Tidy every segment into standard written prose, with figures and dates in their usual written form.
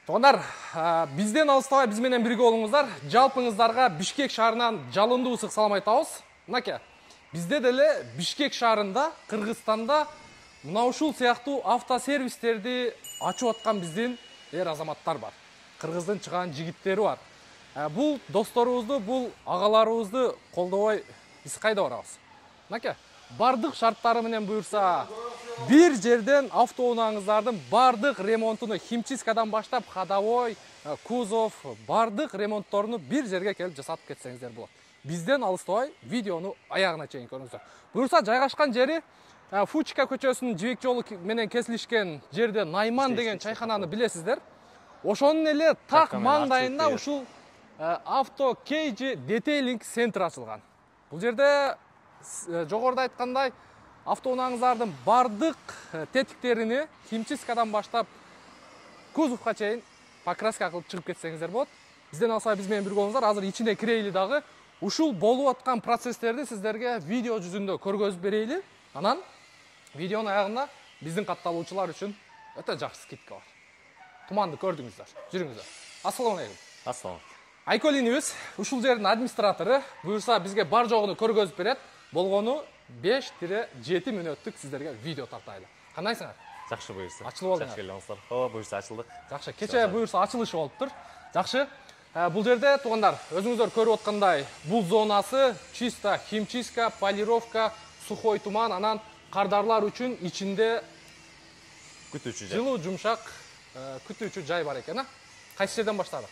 Туугандар, бизден алыстабай биз менен бирге болуңуздар. Жалпыңыздарга Бишкек шаарынан жалындуу ысык салам айтабыз. Мынакей, бизде деле Бишкек шаарында, Кыргызстанда мына ушул сыяктуу автосервистерди ачып аткан биздин азаматтар бар. Кыргыздын чыган жигиттери бар. Бул досторубузду, бул агаларыбызды колдобой биз кайда барабыз? Мынакей, бардык шарттары менен буюрса, бир жерден автоунааңыздардын бардык ремонтуну химчисткадан баштап ходовой, кузов, бардык ремонтторуну бир жерге келип жасатып кетсеңиздер болот. Бизден алыстабай видеону аягына чейин көрүңүздөр. Буюрса жайгашкан жери Фучка көчөсүнүн жибек жолу менен кесилишкен жерде Найман деген чайхананы билесиздер. Ошонун эле так маңдайында ушул Auto Cage Detailing Center ачылган. Бул жерде жогоруда айткандай автоунааңыздардын бардык тетиктерини химчисткадан баштап кузовго чейин покраска кылып чыгып кетсеңиздер болот. Бизден алсай биз менен бирге болуңуздар. Азыр ичине кирейли дагы ушул болуп аткан процесстерди сиздерге видео жүзүндө көргөзүп берейли. Анан видеонун аягында биздин катталуучулар үчүн өтө жакшы скидка бар. Туманды көрдүңүздөр. Жүрүңүздөр. Ассаламу алейкум. Ассалам. Айколинибиз ушул жердин администратору. Буюрса бизге бар жогуну көргөзүп берет. Болгону 5-7 мүнөттүк сиздерге видео тартайлы. Кандайсыңар? Жакшы буюрса. Ачылып алдыңар. Жакшы келиңиздер. Ооба, буюрса ачылдык. Жакшы. Кече буюрса ачылышы болуптур. Жакшы. Бул жерде туугандар, өзүңүздөр көрүп аткандай, бул зонасы чисто химчистка, полировка, сухой туман, анан кардарлар үчүн ичинде Күтүүчү жай. жылуу, жумшак күтүүчү жай бар экен, Кайсы жерден баштадык?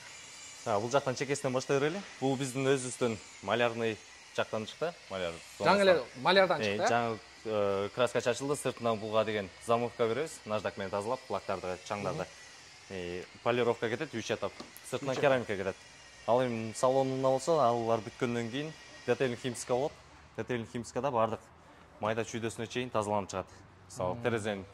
Бул жактан чекесинен баштай берели. Бул биздин өзүбүздөн малярный жактан чыкты. Маляр. Жаңы эле малярдан чыкты. Жаңы краска чачылды, сыртынан булга деген замовка беребиз. Наждак менен тазалап, лактарды, чаңдарды. Полировка кетет, 3 этап. Сыртынан керамика кетет. Ал эми салонуна болсо, алар бүткөндөн кийин детейлинг химчистка болот. Детейлинг химчисткада бардык майда чүйдөсүнө чейин тазаланып чыгат. Мисалы, терезенин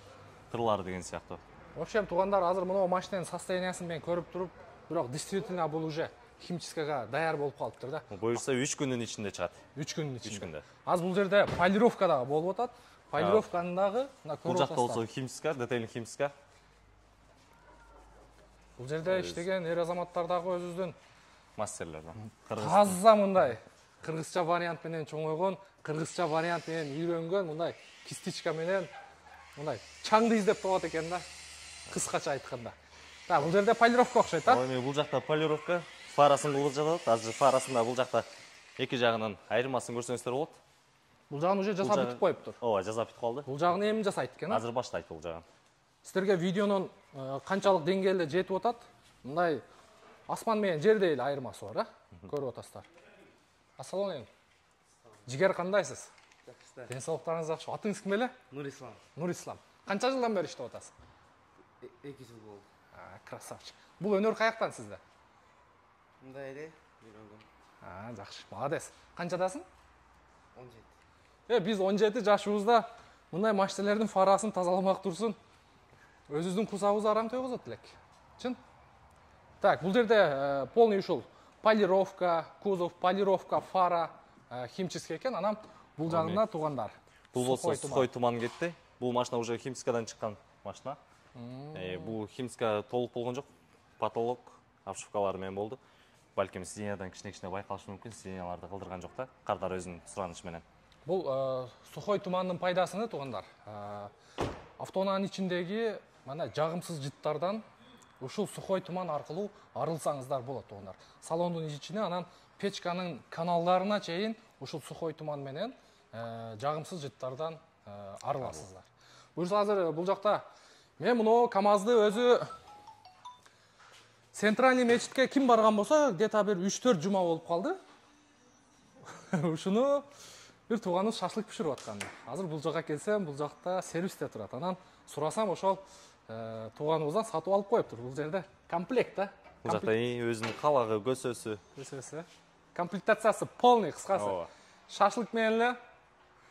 кырлары деген сыяктуу. В общем, туугандар, азыр мына машинанын состояниясын мен көрүп туруп, бирок действительно бул уже химчисткага даяр болуп калыптыр да. Буюрса 3 күндүн ичинде чыгат. 3 күндүн ичинде. 3 күндө. Азыр бул жерде полировка дагы болуп атат. Полировканы дагы мына көрүп атасыздар. Бул жакта болсо химчистка, детейлинг химчистка. Бул жерде иштеген азаматтар дагы өзүбүздүн мастерлер бар. Таза мындай кыргызча вариант менен чоңойгон, кыргызча вариант менен үйрөнгөн мындай кистичка менен мындай чаңды издеп табат экен да. Кыскача айтканда. Бул жерде полировка окшойт, Эми бул жакта полировка, фарасын кылып жатат. Азыр фарасында бул жакта эки жагынан айырмасын көрсөңүздөр болот. Бул жагын уже жасап бүтүп коюптур. Ооба, жасап бүтүп калды. Бул жагын эми жасайт экен. Азыр баштайт бул жагын. Сиздерге видеонун канчалык деңгээлде жетип атат? Мындай асман менен жердей эле айырмасы бар, көрүп атасыздар. Ассаламу алейкум. Жигер, кандайсыз? Жакшы. Ден соолуктарыңыз жакшы. Атыңыз ким эле? Нурислам. Нурислам. Канча жылдан бери иштеп атасыз? 2 жыл болду. Красавчик. Бул өнөр каяктан сизде? Мындай эле үйрөнгөм. Жакшы. Молодец. Канчадасың? 17. Биз 17 жашыбызда мындай машиналардын фарасын тазаламак турсун. Өзүбүздүн кусабыбыз арам тойгозот элек. Чын? Так, бул жерде полный ушул полировка, кузов, полировка, фара, химчистка экен. Анан бул жагында туугандар. Бул болсо сухой туман кетти. Бул машина уже химчисткадан чыккан машина. Бул химчистка толук болгон жок. Потолок, обшивкалары менен болду. Балким сидениядан кичине байкалышы мүмкүн, сиденияларды кылдырган жок да. Кардар өзүнүн суранышы менен. Бул сухой тумандын пайдасыны туугандар. Автоунаанын ичиндеги мына жагымсыз жыттардан ушул сухой туман аркылуу арылсаңыздар болот туугандар. Салондун ичине анан печканын каналдарына чейин ушул сухой туман менен жагымсыз жыттардан арыласыздар. Буюрса азыр бул жакта мен муну КамАЗды өзү Центральный мечитке ким барган болсо, где-то бир 3-4 жума болуп калды. Ушуну бир тууганыбыз шашлык пиширип аткан. Азыр бул жакка келсем, бул жакта сервисте турат. Анан сурасам, ошол тууганыбыздан сатып алып коюптур. Бул жерде комплект да. Бул жакта өзүнүн калагы, көсөсү. Комплектациясы полный, кыскасы. Шашлык менен эле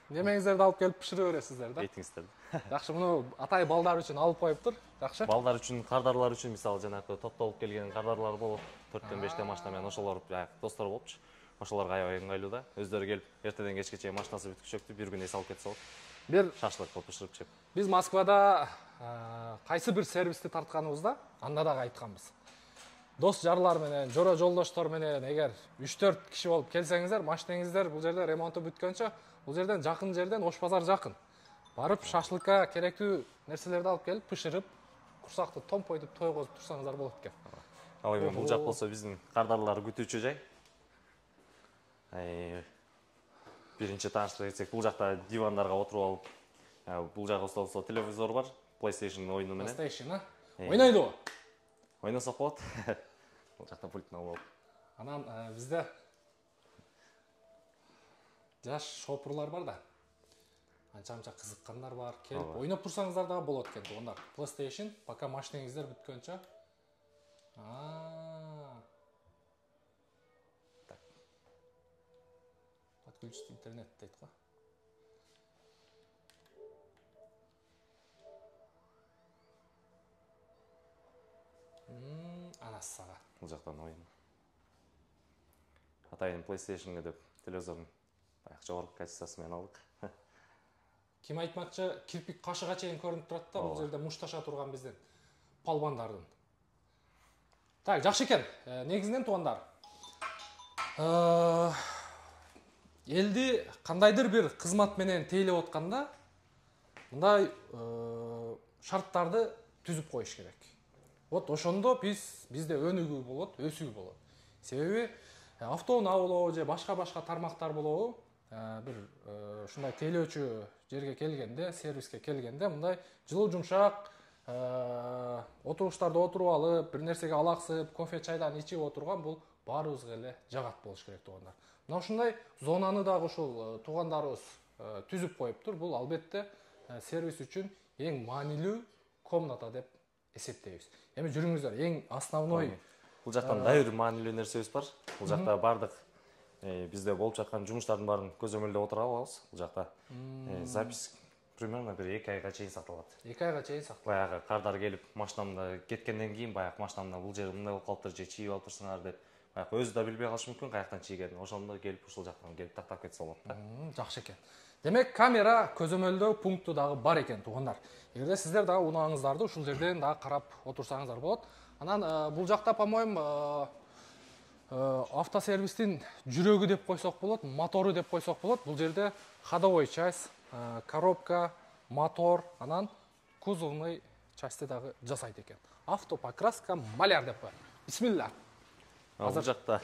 немеңиздерди алып келип пишире бересиздер да. Айтыңыздар. Жакшы, муну атай балдар үчүн алып коюптур. Жакшы. Балдар үчүн, кардарлар үчүн, мисалы жанагы топтолуп келген кардарлар болот. 4-5 машина менен ошолор достор болупчу. Ошолорго аябай ыңгайлуу да. Өздөрү келип, эртеден кечке чейин машинасы бүтүп чөктү, бир күн эс алып кетсе болот. Бир шашлык кылып пиширип жеп. Биз Москвада кайсы бир сервисти тартканыбызда анда дагы айтканбыз. дос жарлар менен, жора жолдоштор менен эгер 3-4 киши болуп келсеңиздер, машинеңиздер бул жерде ремонту бүткөнчө, бул жерден жакын жерден Ош базар жакын. Барып шашлыкка керектүү нерселерди алып келип, пышырып, курсакты томпойтуп той козуп турсаңыздар болот экен. Ал эми бул жак болсо биздин кардарлар күтүүчү жай. Биринчи тааныштыра кетсек, бул жакта дивандарга отуруп алып, бул жакта болсо телевизор бар, PlayStation оюну менен. PlayStation, ойнойдубу? Ойносок болот. Бул жакта пультун алып. Анан бизде жаш шопурлар бар да. Анча-мынча кызыккандар бар. Келип ойноп турсаңыздар дагы болот экен. Ондар PlayStation пока машинеңиздер бүткөнчө. Так. Подключить интернет дейт го. Анасы сага. Бул жактан ойын. Атайын PlayStation'га деп телевизордун баягы жогорку качествосы менен алдык. Ким айтмакчы, кирпик кашыга чейин көрүнүп турат да, бул жерде мушташа турган биздин палбандардын. Так, жакшы экен. Негизинен туугандар. Элди кандайдыр бир кызмат менен тейлеп атканда, мындай шарттарды түзүп коюш керек. Вот ошондо бизде өнүгүү болот, өсүү болот. Себеби автоунаа болобу же башка тармактар болобу, бир ушундай тейлөөчү жерге келгенде, сервиске келгенде мындай жылуу жумшак отуруштарда отуруп алып, бир нерсеге алаксып, кофе чайдан ичип отурган бул баарыбызга эле жагат болуш керек туугандар. Мына ушундай зонаны дагы ушул туугандарыбыз түзүп коюптур. Бул албетте сервис үчүн эң маанилүү комната деп эсептейбиз. Эми жүрүңүздөр, эң основной бул жактан дайыр маанилүү нерсебиз бар. Бул жакта бардык бизде болуп жаткан жумуштардын баарын көзөмөлдөп отура алабыз. Бул жакта запись примерно бир 2 айга чейин сакталат. 2 айга чейин сакталат. Баягы кардар келип, машинамда кеткенден кийин баягы машинамда бул жери мындай болуп калыптыр, же чийип алып турсуңар деп, баягы өзү да билбей калышы мүмкүн каяктан чийгенин. Ошондо келип ушул жактан келип тактап кетсе болот да. Жакшы экен. Демек, камера көзөмөлдөө пункту дагы бар экен туугандар. Эгерде сиздер дагы унааңыздарды ушул жерден дагы карап отурсаңыздар болот. Анан бул жакта, по-моему, автосервистин жүрөгү деп койсок болот, мотору деп койсок болот. Бул жерде ходовой часть, коробка, мотор, анан кузовный частьты дагы жасайт экен. Автопокраска маляр деп коет. Бисмилла. Бул жакта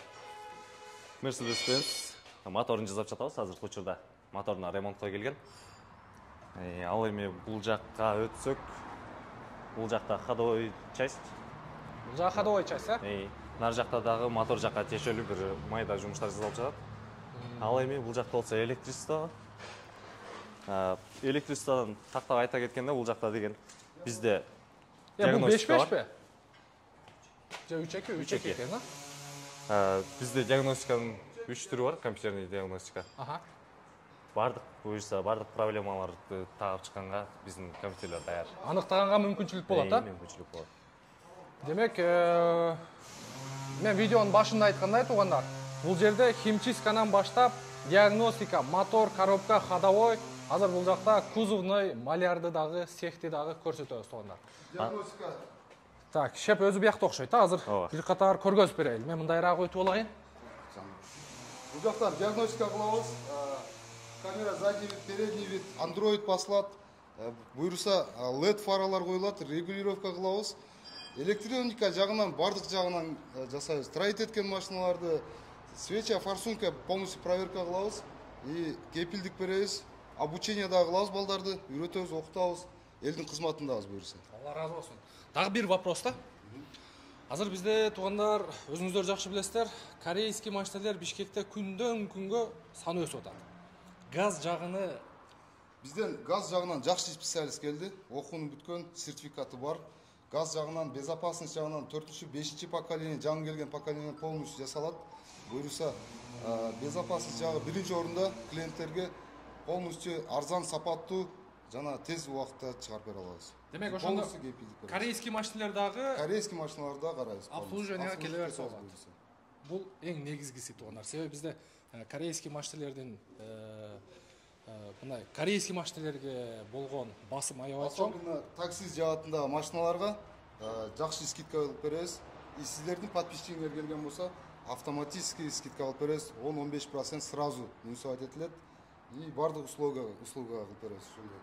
Mercedes-Benz моторун жасап жатабыз азыркы учурда. Моторуна ремонтко келген. Ал эми бул жакка өтсөк, бул жакта ходовой часть. Бул жакта ходовой часть, Нар жакта дагы мотор жакка тиешелүү бир майда жумуштар жасалып жатат. Ал эми бул жакта болсо электричество. Электричестводон тактап айта кеткенде, бул жакта деген бизде диагностика бар. Же 3-2 экен, Бизде диагностиканын 3 түрү бар, компьютерный диагностика. Бардык буюрса, бардык проблемаларды таап чыкканга биздин компьютерлер даяр. Аныктаганга мүмкүнчүлүк болот, Мүмкүнчүлүк болот. Демек, мен видеонун башында айткандай туугандар, бул жерде химчистканан баштап диагностика, мотор, коробка, ходовой, азыр бул жакта кузовный, малярды дагы, цехти дагы көрсөтөбүз туугандар. Диагностика. Так, шеп өзү биякта окшойт, азыр бир катар көргөзүп берейин. Мен мындайраак өтүп алайын. Бул жактан диагностика кылабыз. Камера задний вид, передний вид, Android басылат. Буюрса LED фаралар коюлат, регулировка кылабыз. Электроника жагынан, бардык жагынан жасайбыз. Троит эткен машиналарды свеча, форсунка полностью проверка кылабыз. И кепилдик беребиз. Обучение дагы кылабыз балдарды, үйрөтөбүз, окутабыз. Элдин кызматындабыз буюрса. Алла разы болсун. Дагы бир вопрос да. Азыр бизде туугандар, өзүңүздөр жакшы билесиздер, корейский машиналар Бишкекте күндөн күнгө саны өсүп атат. Газ жагыны Бизден газ жагынан жакшы специалист келди. Окууну бүткөн, сертификаты бар. Газ жагынан, безопасность жагынан 4-5 поколение, жаңы келген поколение полностью жасалат. Буюрса, безопасность жагы биринчи орунда клиенттерге полностью арзан, сапаттуу жана тез убакытта чыгарып бере алабыз. Демек, ошондо корейский машиналар дагы карайбыз. Обслуживанияга келе берсе болот. Бул эң негизгиси туугандар. Себеби бизде корейский машиналардын мындай корейский машиналарга болгон басым аябай чоң. Особенно такси жаатындагы машиналарга жакшы скидка кылып беребиз. сиздердин подписчигиңер келген болсо автоматически скидка алып беребиз, 10-15% сразу минусовать этилет и бардык услуга кылып беребиз ошондой.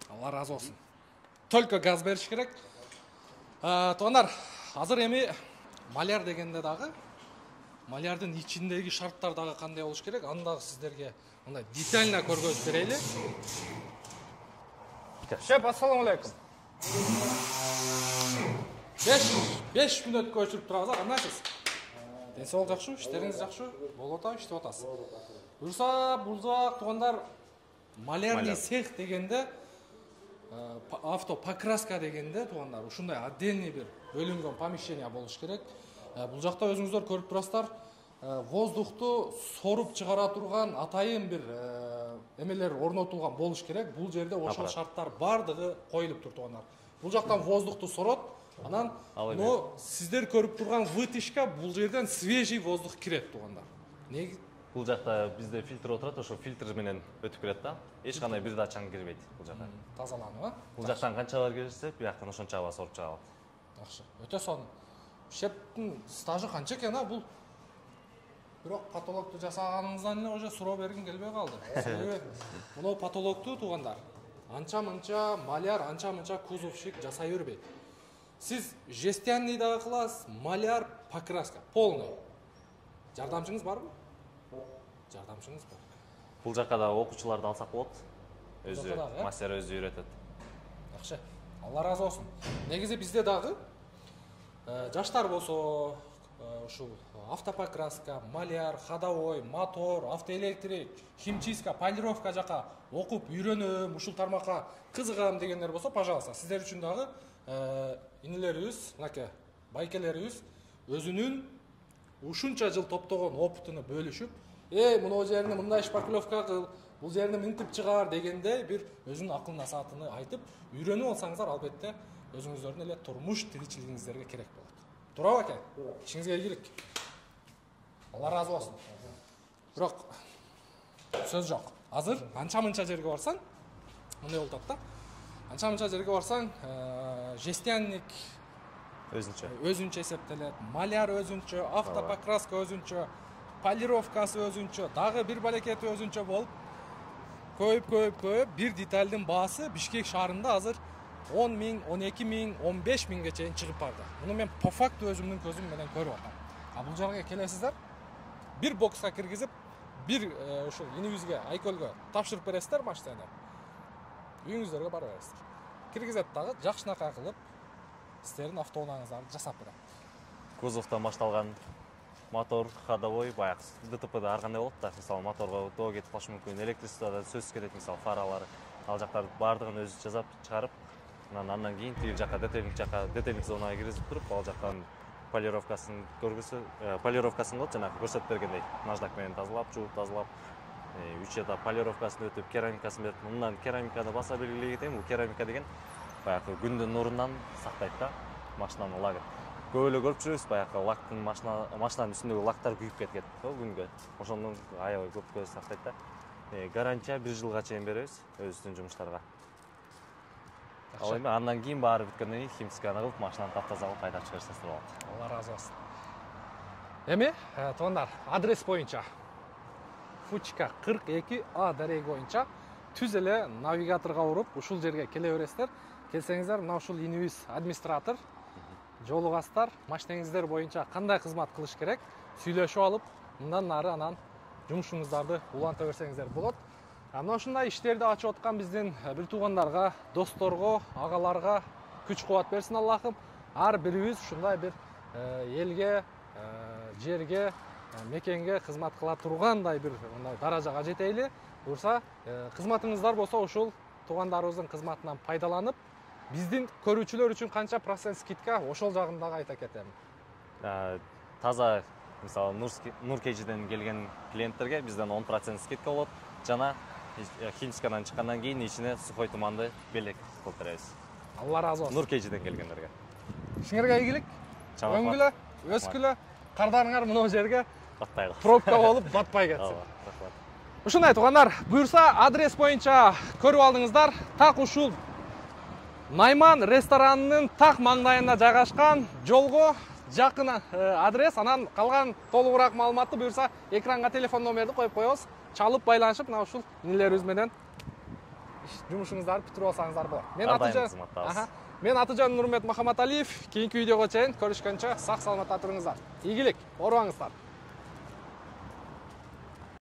Алла разы болсун. Только газ бериш керек. Туугандар, азыр эми маляр дегенде дагы малярдын ичиндеги шарттар дагы кандай болуш керек? Аны дагы сиздерге мындай детально көргөзүп берели. Шеп, ассаламу алейкум. 5 мүнөткө өчүрүп турабыз, кандайсыз? Ден соолук жакшы, иштериңиз жакшы? Болуп атабы, иштеп атасыз. Буюрса, бузак туугандар, малярный цех дегенде, автопокраска дегенде туугандар, ушундай отдельный бир бөлүнгөн помещение болуш керек. Бул жакта өзүңүздөр көрүп турасыздар, воздухту соруп чыгара турган атайын бир эмелер орнотулган болуш керек. Бул жерде ошол шарттар бардыгы коюлуп тур туугандар. Бул жактан воздухту сорот, анан сиздер көрүп турган вытяжка бул жерден свежий воздух кирет туугандар. Бул жакта бизде фильтр отурат, ошо фильтр менен өтүп келет да. Эч кандай бир да чаң кирбейт бул жакка. Тазаланып, Бул жактан канчалар кирсе, бияктан ошонча аба соруп чыга алат. Жакшы. Өтө сонун. Шептин стажы канча экен, бул? Бирок потолокту жасаганыңыздан эле уже суроо бергим келбей калды. Себеби мына потолокту туугандар анча-мынча маляр, анча-мынча кузовщик жасай бербейт. Сиз жестянный дагы кыласыз, маляр, покраска, полный. Жардамчыңыз барбы? Жардамчыңыз бар. Бул жакка да окуучуларды алсак болот. Өзү мастер өзү үйрөтөт. Жакшы. Алла разы болсун. Негизи бизде дагы жаштар болсо, ушул автопокраска, маляр, ходовой, мотор, автоэлектрик, химчистка, полировка жака окуп үйрөнөм, ушул тармакка кызыгам дегендер болсо, пожалуйста, сиздер үчүн дагы инилерибиз, мынакей, байкелерибиз өзүнүн ушунча жыл топтогон опытын бөлүшүп, мына жерине мындай шпаклевка кыл, бул жерине мынтип чыгар дегенде бир өзүнүн акыл насаатыны айтып, үйрөнүп алсаңыздар, албетте өзүңүздөрдүн эле турмуш тиричилигиңиздерге керек болот. Туурабы экен? Ишиңизге ийгилик. Алла разы болсун. Бирок сөз жок. Азыр анча-мынча жерге барсаң, мындай болуп атат да. Анча-мынча жерге барсаң, жестянник өзүнчө эсептелет, маляр өзүнчө, автопокраска өзүнчө, полировкасы өзүнчө, дагы бир балекети өзүнчө болуп, көйүп бир детальдын баасы Бишкек шаарында азыр 10 миң, 12 миң, 15 миңге чейин чыгып барды. Муну мен по факту өзүмдүн көзүм менен көрүп атам. Бул жерге келесиздер, бир бокска киргизип, бир ушул инибизге, Айкөлгө тапшырып бересиздер машинаны. Үйүңүздөргө барып бересиздер. Киргизет дагы жакшынакай кылып, сиздердин автоунааңыздарды жасап берет. Кузовтан башталган мотор, ходовой, баягы ДТПда ар кандай болот да. Мисалы, моторго тоо кетип калышы мүмкүн, электричествода сөзсүз кетет, мисалы, фаралары. Ал жактарды бардыгын өзү жасап чыгарып, андан кийин тиги жака детейлинг зонага киргизип туруп, ал жактан полировкасын кылып, жанагы көрсөтүп бергендей, наждак менен тазалап, жууп тазалап, 3 этап полировкасын өтүп, керамикасын берип, мындан керамиканы баса белгилей кетейин. Бул керамика деген баягы күндүн нурунан сактайт да машинаны лагын. Көп эле көрүп жүрөбүз, баягы лактын машинанын үстүндөгү лактар күйүп кетет күнгө. Ошондон аябай көп сактайт да. Гарантия 1 жылга чейин беребиз өзүбүздүн жумуштарга. Ал эми андан кийин баары бүткөндөн кийин химчистканы кылып, машинаны таптаза кылып кайта чыгарсаңыз болот. Алла разы болсун. Эми, туугандар, адрес боюнча Фучка 42А дареги боюнча түз эле навигаторго уруп, ушул жерге келе бересиздер. Келсеңиздер, мына ушул инибиз администратор, жолугасыздар, машинеңиздер боюнча кандай кызмат кылыш керек, сүйлөшүп алып, мындан нары анан жумушуңуздарды уланта берсеңиздер болот. Мына ушундай иштерди ачып аткан биздин бир туугандарга, досторго, агаларга күч кубат берсин Аллахым. Ар бирибиз ушундай бир элге, жерге, мекенге кызмат кыла тургандай бир мындай даражага жетейли. Буюрса, кызматыңыздар болсо ушул туугандарыбыздын кызматынан пайдаланып, биздин көрүүчүлөр үчүн канча процент скидка, ошол жагын дагы айта кетем. Таза, мисалы, Нур Кежиден келген клиенттерге бизден 10% скидка болот. Жана химчисткадан чыккандан кийин ичине сухой туманды белек кылып беребиз. Алла разы болсун. Нур Кежиден келгендерге. Ишиңерге ийгилик. Өңгүлө, өскүлө, кардарыңар мына жерге батпай калсын. Пробка болуп батпай кетсин. Ушундай туугандар, буюрса адрес боюнча көрүп алдыңыздар. Так ушул Найман ресторанынын так маңдайында жайгашкан жолго жакын адрес, анан калган толугураак маалыматты буюрса экранга телефон номерди коюп коебуз. Чалып байланышып мына ушул инилерибиз менен жумушуңуздарды бүтүрүп алсаңыздар болот. Мен Атыжан Нурмет Махаматалиев. Кийинки видеого чейин көрүшкөнчө сак саламатта туруңуздар. Ийгилик, оорубаңыздар.